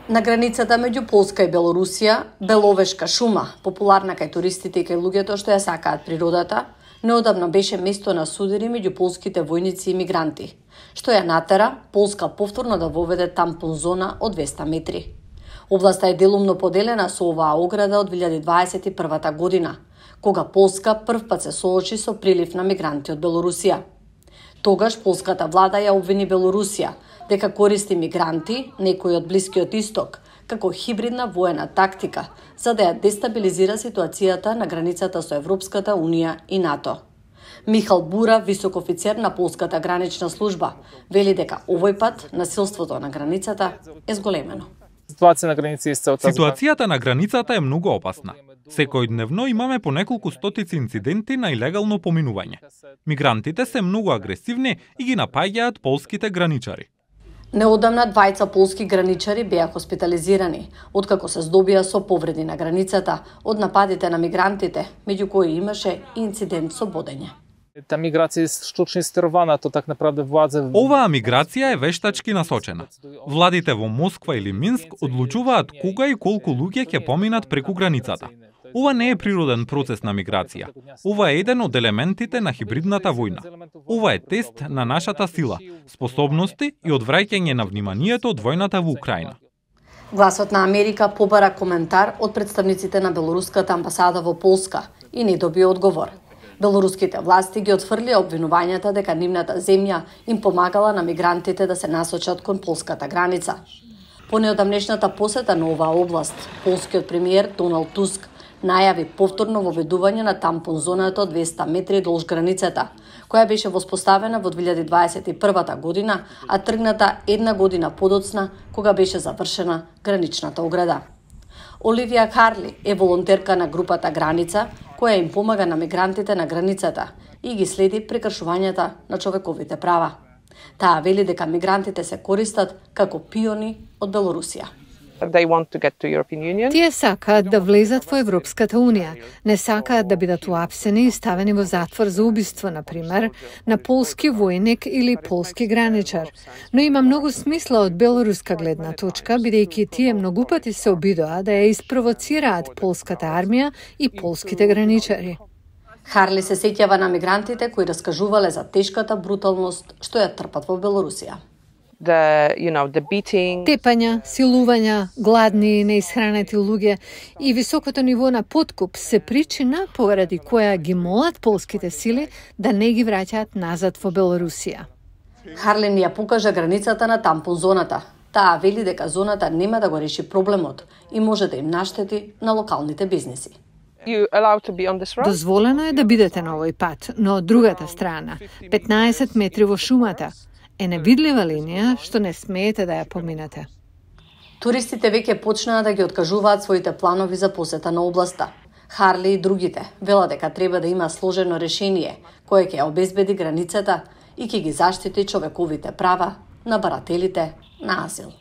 На границата меѓу Полска и Белорусија, Беловешка шума, популарна кај туристите и кај луѓето што ја сакаат природата, неодамна беше место на судири меѓу полските војници и мигранти, што ја натера Полска повторно да воведе тампон зона од 200 метри. Областа е делумно поделена со оваа ограда од 2021 година, кога Полска првпат се соочи со прилив на мигранти од Белорусија. Тогаш полската влада ја обвини Белорусија дека користи мигранти, некои од Блискиот Исток, како хибридна воена тактика за да ја дестабилизира ситуацијата на границата со Европската Унија и НАТО. Михал Бура, висок офицер на полската гранична служба, вели дека овој пат насилството на границата е зголемено. Ситуацијата на границата е многу опасна. Секојдневно имаме по неколку стотици инциденти на илегално поминување. Мигрантите се многу агресивни и ги напаѓаат полските граничари. Неодамна двајца полски граничари беа хоспитализирани, откако се здобија со повреди на границата од нападите на мигрантите, меѓу кои имаше и инцидент со бодење. Та миграција е штучно стерована, то так направде владзе... Оваа миграција е вештачки насочена. Владите во Москва или Минск одлучуваат кога и колку луѓе ќе поминат преку границата. Ова не е природен процес на миграција. Ова е еден од елементите на хибридната војна. Ова е тест на нашата сила, способности и одвраќање на вниманието од војната во Украина. Гласот на Америка побара коментар од представниците на белоруската амбасада во Полска и не доби одговор. Белоруските власти ги отфрлија обвинувањата дека нивната земја им помагала на мигрантите да се насочат кон полската граница. По неодамнешната посета на оваа област, полскиот премиер Доналд Туск најави повторно воведување на тампон зоната од 200 метри долж границата, која беше воспоставена во 2021 година, а тргната една година подоцна, кога беше завршена граничната ограда. Оливија Харли е волонтерка на групата Граница, која им помага на мигрантите на границата и ги следи прекршувањата на човековите права. Таа вели дека мигрантите се користат како пиони од Белорусија. Тие сакаат да влезат во Европската Унија. Не сакаат да бидат уапсени и ставени во затвор за убиство, например, на полски војник или полски граничар. Но има многу смисла од белоруска гледна точка, бидејќи тие многу пати се обидоа да ја испровоцираат полската армија и полските граничари. Харли се сеќава на мигрантите кои раскажувале за тешката бруталност што ја трпат во Белорусија. Тепања, силувања, гладни и неисхранети луѓе и високото ниво на подкуп се причина поради која ги молат полските сили да не ги враќаат назад во Белорусија. Харлин ја покажа границата на тампон зоната. Таа вели дека зоната нема да го реши проблемот и може да им наштети на локалните бизнеси. Дозволено е да бидете на овој пат, но од другата страна, 15 метри во шумата, е невидлива линија што не смеете да ја поминете. Туристите веќе почнаа да ги откажуваат своите планови за посета на областа. Харли и другите велат дека треба да има сложено решение кое ќе ја обезбеди границата и ќе ги заштити човековите права на барателите на азил.